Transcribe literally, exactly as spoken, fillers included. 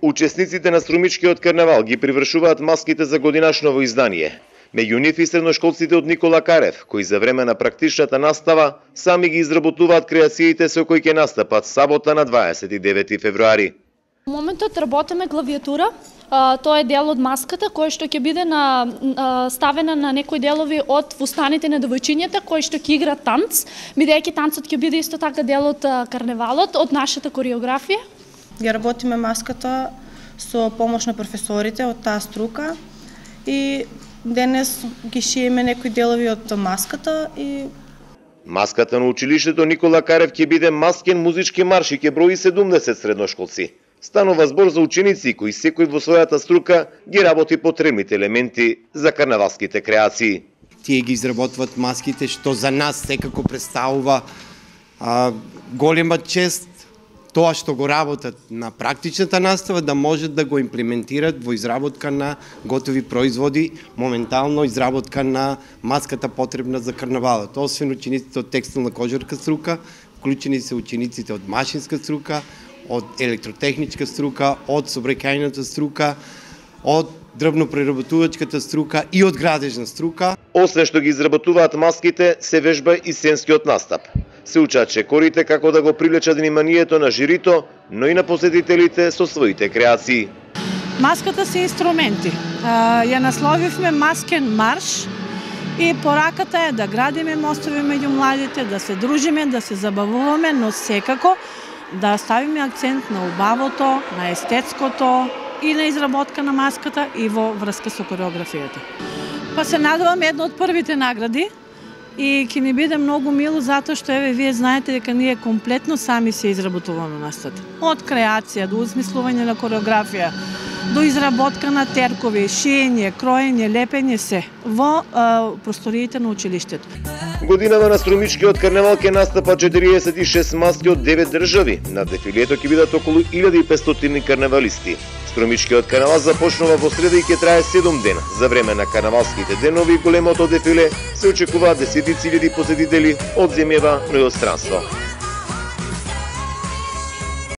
Учесниците на Струмичкиот карнавал ги привршуваат маските за годинашново издание. Меѓу нив и средношколците од Никола Карев, кои за време на практичната настава сами ги изработуваат креациите со кои ќе настапат сабота на дваесет и девети февруари. Во моментот работиме главиатура. Uh, тоа е дел од маската кој што ќе биде на uh, ставена на некои делови од фустаните на девојчињата кои што ќе играат танц, бидејќи танцот ќе биде исто така дел од uh, карневалот, од нашата кореографија. Ја работиме маската со помош на професорите од таа струка и денес ги шиеме некои делови од маската и маската на училиштето Никола Карев ќе биде маскен музички марш и ќе брои седумдесет средношколци. Станува збор за ученици кои секој во својата струка ги работи потребните елементи за карнавалските креации. Тие ги изработват маските, што за нас секако представува а, голема чест тоа што го работат на практичната настава да можат да го имплементират во изработка на готови производи, моментално изработка на маската потребна за карнавалот. Освен учениците од текстилна кожарка струка, вклучени се учениците од машинска струка, од електротехничка струка, од сообраќајната струка, од дрвно-преработувачката струка и од градежна струка. Освен што ги изработуваат маските, се вежба и сценскиот настап. Се учат чекорите како да го привлечат вниманието на жирито, но и на посетителите со своите креации. Маската се инструменти. Ја насловивме маскен марш и пораката е да градиме мостови меѓу младите, да се дружиме, да се забавуваме, но секако да ставиме акцент на убавото, на естетското и на изработка на маската и во врска со кореографијата. Па се надеваме една од првите награди и ќе ни биде многу мило затоа што еве вие знаете дека ние комплетно сами се изработуваме маската. Од креација до измислување на кореографија, до изработка на теркови, шиење, кроење, лепење се во а, просториите на училиштето. Годинава на Струмичкиот карнавал ќе настапат четириесет и шест маски од девет држави. На дефилето ќе бидат околу илјада и петстотини карнавалисти. Струмичкиот карнавал започнува во среда и ќе трае седум дена. За време на карнавалските денови големото дефиле се очекуваат десетици илјади посетители од земјава, но и од странство.